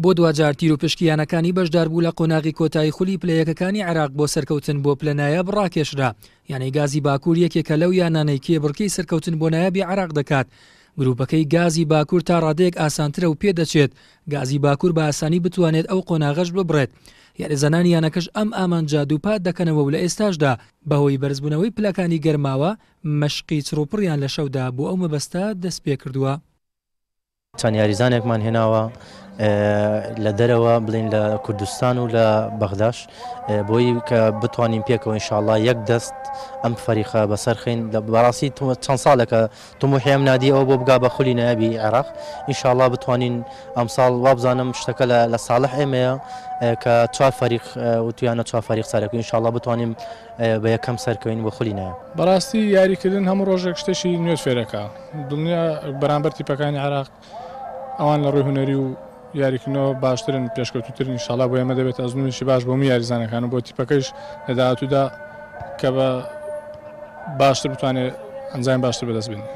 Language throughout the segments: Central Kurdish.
بۆ دواجار تیروپشکی یانەکانی بەشداربوو لە قۆناغی کۆتایی خولی پلە یەکەکانی عێراق بۆ سەرکەوتن بۆ پلە نایاب ڕاکێشرا. یانەی گازی باکوور یەکێکە لەو یانانەی کێبڕکێی سەرکەوتن بۆ نایابی عێراق دەکات. گروپەکەی گازی باکوور تا ڕادەیەک ئاسانترە و پێدەچێت گازی باکوور بە ئاسانی بتوانێت ئەو قۆناغەش ببڕێت. یاریزانانی یانەکەش ئەم ئامانجە دووپات دەکەنەوە و لە ئێستاشدا بەهۆی بەرزبوونەوەی پلەکانی گەرماوە مەشقی چڕوپڕیان لە شەودا بۆ ئەو مەبەستە دەستپێکردووە. چەند یاریزانێکمان هێناوە لە دەرەوە بڵین لە کوردستان و لە بەغداش بۆی کە بتوانین پێکەوە ئینشاءاللە یەک دەست ئەم فەریقە بەسەرخین لە بەڕاستی چەند ساڵێکە تموحی ئەم نادی ئەوە بۆ بگا بە خولی نایابی عێراق ئینشاءاللە بتوانین ئەمساڵ وابزانم شتەکە لە ساڵح ئێمەیە کە چوار فەریق وتویانە چوار فەریق سەرەکە ئینشاءاللە بتوانین بە یەکەم سەرکەوین بۆ خولی نایاب. بەڕاستی یاریکردن هەموو ڕۆژێک شتێکی نوێت فێرەکا دڵنیا بەرامبەر تیپەکانی عێراق ئەوان لە ڕووی هونەری و یاریکردنەوە باشترن پێشکەوتوترن ئینشاڵا بۆ ئێمە دەبێت ئەزمونێکی باش بۆ هەموو یاریزانەکان و بۆ تیپەکەیش لە داهاتوودا کە بە باشتر بتوانێت ئەنجامی باشتر بەدەست بێنێت.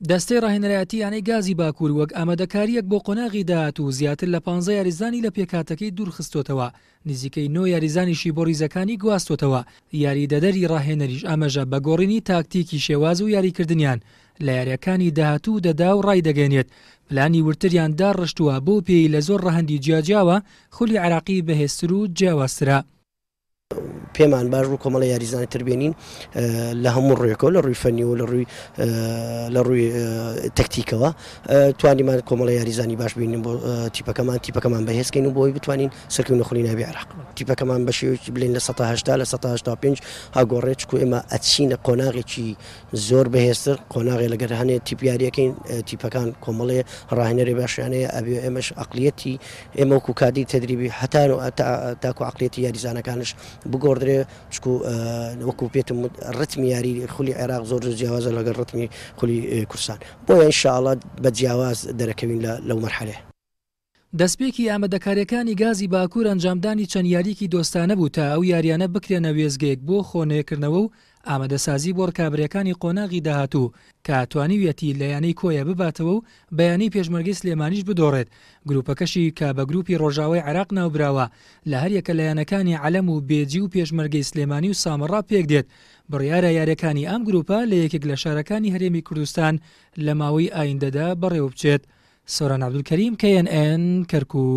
دەستەی ڕاهێنەرایەتی یانەی گازی باکوور وەک ئامادەکارییەک بۆ قۆناغی داهاتوو زیاتر لە پانزە یاریزانی لە پێکهاتەکەی دوورخستۆتەوە، نزیکەی نۆ یاریزانیشی بۆ ریزەکانی گواستۆتەوە، یاریدەدەری ڕاهێنەریش ئاماژە بە گۆڕینی تاکتیکی شێواز و یاریکردنیان لە یارییەکانی داهاتوو دەدا و ڕایدەگەیەنێت پلانی وردتریان داڕشتووە بەو پێیەی لە زۆر ڕەهەندی جیاجیاوە خولی عێراقی بەهێزتر و جیاوازترە. پێمان باش بوو کۆمەڵە یاریزانی تر بێنین لە هەموو ڕوویەکەوە لە ڕووی فەنی و لە ڕووی لە ڕووی تەکتیکەوە توانیمان کۆمەڵە یاریزانی باش بینین بۆ تیپەکەمان تیپەکەمان بەهێزکەین و بۆی بتوانین سەرکەوین لە خولی نایابی عێراق تیپەکەمان بە شێوەیەکی بلین لە 180 لە 185 ئاگۆڕێت چکو ئێمە ئەچینە قۆناغێکی زۆر بەهێزتر قۆناغێ لەگەر هەنێ تیپ یاریەکەین تیپەکان کۆمەڵێ ڕاهێنەری باشیانەیە ئەبێ ئێمەش عقلیەتی ئێمە وەکو کادی تەدریبی هەتا تاکو عقلیەتی یاریزانەکانش بگۆڕدرێ چکو وەکو پێتم ڕتمی یاری خولی عێراق زۆر زۆر جیاوازە لەگەڵ ڕتمی خولی کوردستان بۆیە ئینشاءڵڵا بە جیاواز دەرەکەوین لە لەو مەرحەلەیە. دەستپێکی ئامادەکارییەکانی گازی باکوور ئەنجامدانی چەند یارییەکی دۆستانە بوو تا ئەو یارییانە بکرێنە وێستگەیەک بۆ خۆنوێکردنەوە و ئامادەسازی بۆ رکابەرییەکانی قۆناغی داهاتوو کە توانیویەتی لە یانەی کۆیە بباتەوە و بە یانەی پێشمەرگەی سلێمانیش بدۆڕێت گروپەکەشی کە بە گروپی رۆژاوای عێراق ناوبراوە لە هەریەکە لە یانەکانی عەلەم و بێجی و پێشمەرگەی سلێمانی و سامەڕا پێکدێت بڕیارە یارییەکانی ئەم گروپە لە یەکێک لە شارەکانی هەرێمی کوردستان لە ماوەی ئایندەدا بەڕێوەبچێت. سۆران عەبدولکەریم، KNN، کەرکوک.